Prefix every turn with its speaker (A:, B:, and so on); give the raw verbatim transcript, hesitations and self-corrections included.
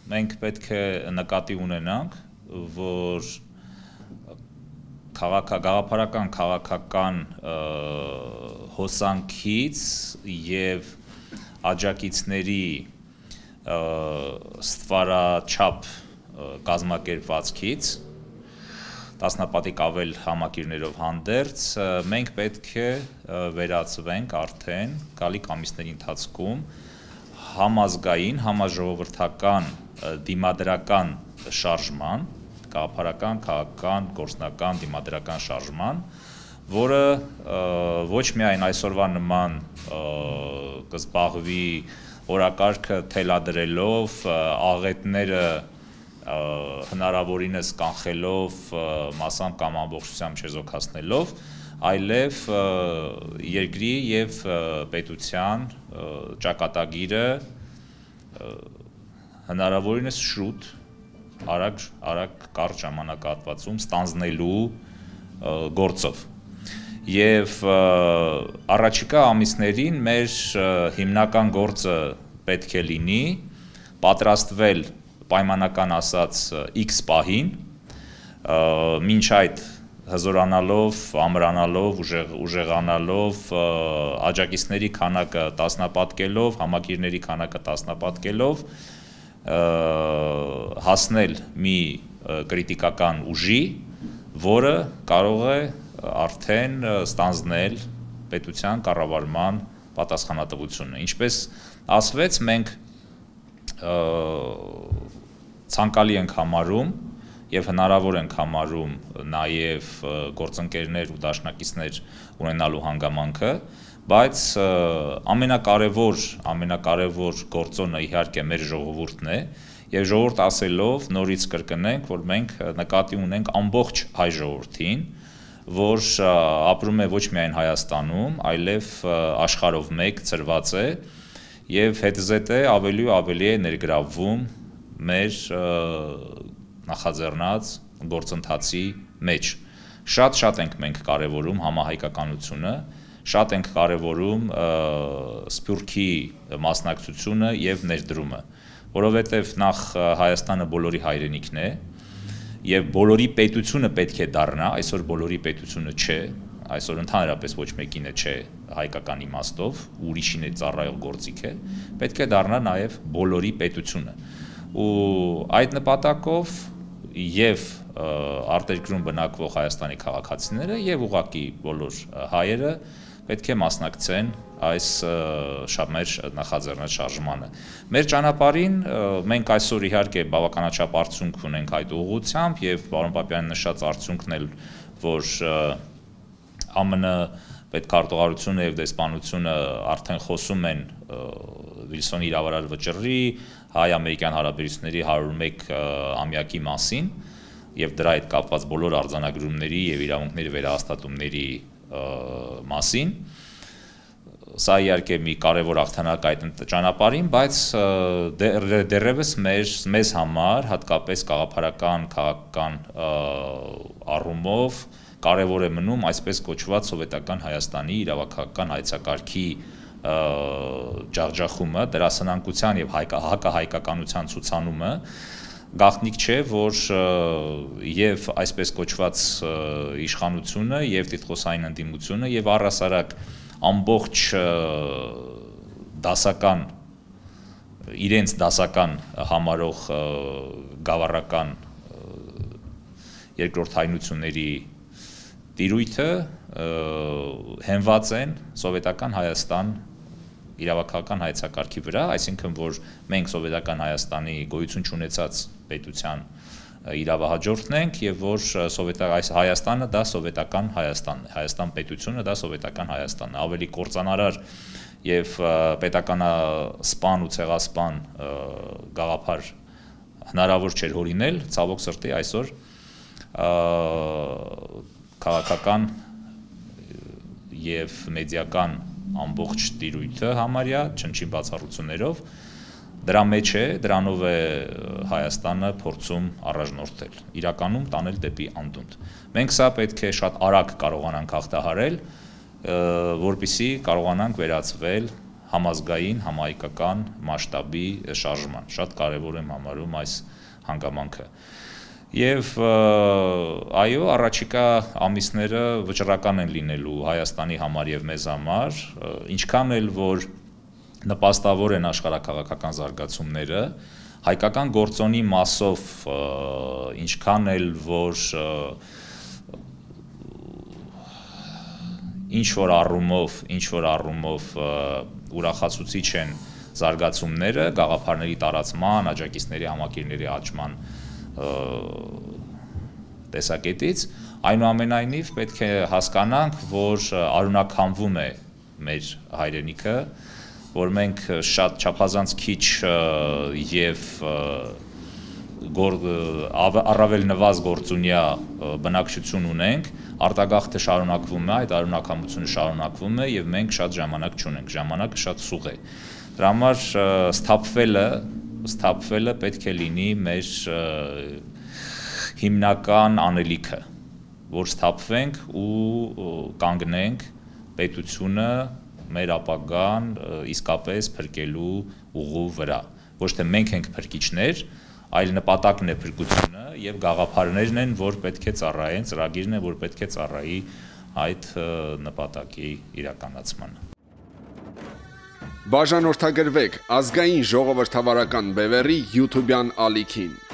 A: մենք պետք է նկատի ունենանք, որ գաղափարական քաղաքական հոսանքից և աջակիցների ստվարաչափ կազմակերպվածքից տասնապատիկ ավել համակիրներով հանդերձ մենք պետք է վերածվենք արդեն գալիք ամիսների ընթացքում համազգային, համաժողովրդական դիմադրական շարժման, գաղափարական, քաղաքական, գործնական, դիմադրական շարժման, որը ոչ միայն այսօրվա նման կզբաղվի օրակարգը թելադրելով, աղետները հնարավորինս կանխելով, մասամբ կամ ամբողջությամբ չեզոքացնելով, այլև երկրի և պետության ճակատագիրը հնարավորինս շուտ, արագ կարճ ժամանակահատվածում ստանձնելու գործով։ Եվ առաջիկա ամիսներին մեր հիմնական գործը պետք է լինի պատրաստվել պայմանական ասած X պահին, մինչ այդ հզորանալով, ամրանալով, ուժեղանալով, աջակիցների քանակը տասնապատկելով, համակիրների քանակը տասնապատկելով, հասնել մի կրիտիկական ուժի, որը կարող է արդեն ստանձնել պետության կառավարման պատասխանատվությունը։ Ինչպես ասվեց, մենք ցանկալի ենք համարում և հնարավոր ենք համարում նաև գործընկերներ ու դաշնակիցներ ունենալու հանգամանքը, բայց ամենակարևոր, ամենակարևոր գործոնը իհարկե մեր ժողովուրդն է, և ժողովուրդ ասելով նորից կրկնենք, որ մենք նկատի ունենք ամբողջ հայ ժողովրդին, որ ապրում է ոչ միայն Հայաստանում, այլև աշխարհով մեկ ծրված է և հետզհետե ավելի ու ավելի է ներգրավվում մեր նախաձեռնած գործընթացի մեջ։ Շատ-շատ ենք մենք կարևորում համահայկականությունը, շատ ենք կարևորում Սփյուռքի մասնակցությունը և ներդրումը, որովհետև նախ Հայաստանը բոլորի հայրենիքն է, և բոլորի պետությունը պետք է դառնա, այսօր բոլորի պետությունը չէ, այսօր ընդհանրապես ոչ մեկինը չէ հայկական իմաստով, ուրիշին է ծառայող գործիք է, պետք է դառնա նաև բոլորի պետությունը։ Ու այդ նպատակով և արտերկրում բնակվող Հայաստանի քաղաքացիները և ուղղակի բոլոր հայերը պետք է մասնակցեն այս մեր նախաձեռնած շարժմանը։ Մեր ճանապարհին մենք այսօր իհարկե բավականաչափ արդյունք ունենք այդ ուղղությամբ և պարոն Պապյանի նշած արդյունքն էլ, որ ԱՄՆ պետքարտուղարությունը և դեսպանությունը արդեն խոսում են Վիլսոնի իրավարար վճռի, հայ-ամերիկյան հարաբերությունների հարյուր մեկ ամյակի մասին և դրա հետ կապված բոլոր արձանագրումների և իրավունքների վերահաստատումների մասին։ Սա իհարկե մի կարևոր հաղթանակ այդ ճանապարհին, բայց դեռևս մեզ համար, հատկապես գաղափարական, քաղաքական առումով կարևոր է մնում այսպես կոչված սովետական Հայաստանի իրավաքաղաքական հայեցակարգի ջախջախումը, դերասանանկության և հակահայկականության ցուցանումը, գաղտնիք չէ, որ և այսպես կոչված իշխանությունը, և տիտղոսային ընդդիմությունը, և առհասարակ ամբողջ դասական, իրենց դասական համարող գավառական երկրորդայնությունների տիրույթը հենված են սովետական Հայաստան իրավաքաղաքական հայեցակարգի վրա, այսինքն որ մենք սովետական Հայաստանի գոյություն չունեցած պետության իրավահաջորդն ենք և որ Հայաստանը դա սովետական Հայաստանն է, Հայաստան պետությունը դա սովետական Հայաստանն է, ավելի կործանարար և պետականասպան ու ցեղասպան գաղափար հնարավոր չէր հորինել, ցավոք սրտի այսօր քաղաքական և մեդիական ամբողջ տիրույթը համարյա չնչին բացառություններով դրա մեջ է, դրանով է Հայաստանը փորձում առաջնորդել, իրականում տանել դեպի անդունդ։ Մենք սա պետք է շատ արագ կարողանանք հաղթահարել, որպեսզի կարողանանք վերածվել համազգային, համահայկական մասշտաբի շարժման։ Շատ կարևոր եմ համարում այս հանգամանքը։ Եվ այո, առաջիկա ամիսները վճռական են լինելու Հայաստանի համար եւ մեզ համար, ինչքան էլ որ նպաստավոր են աշխարհաքաղաքական զարգացումները, հայկական գործոնի մասով ինչքան էլ որ ինչ որ առումով, ինչ որ առումով ուրախացուցիչ են զարգացումները, գաղափարների տարածման, աջակիցների համակիրների աճման տեսակետից, այնուամենայնիվ պետք է հասկանանք, որ արունականվում է մեր հայրենիքը, որ մենք շատ չափազանց քիչ եւ առավել նվազ գործունյա բնակչություն ունենք, արտագաղթը շարունակվում է, այդ արունակամությունը շարունակվում է եւ մենք շատ ժամանակ չունենք, ժամանակը շատ սուղ է։ Դրա համար սթափվելը, սթափվելը պետք է լինի մեր հիմնական անելիքը, որ սթափվենք ու կանգնենք պետությունը մեր ապագան իսկապես փրկելու ուղու վրա։ Ոչ թե մենք ենք փրկիչներ, այլ նպատակն է փրկությունը եւ գաղափարներն են, որ պետք է ծառայեն, ծրագիրն է, որ պետք է ծառայի այդ նպատակի իրականացմանը։
B: Բաժանորդագրվեք ազգային ժողովրդավարական բևեռի YouTube-յան ալիքին։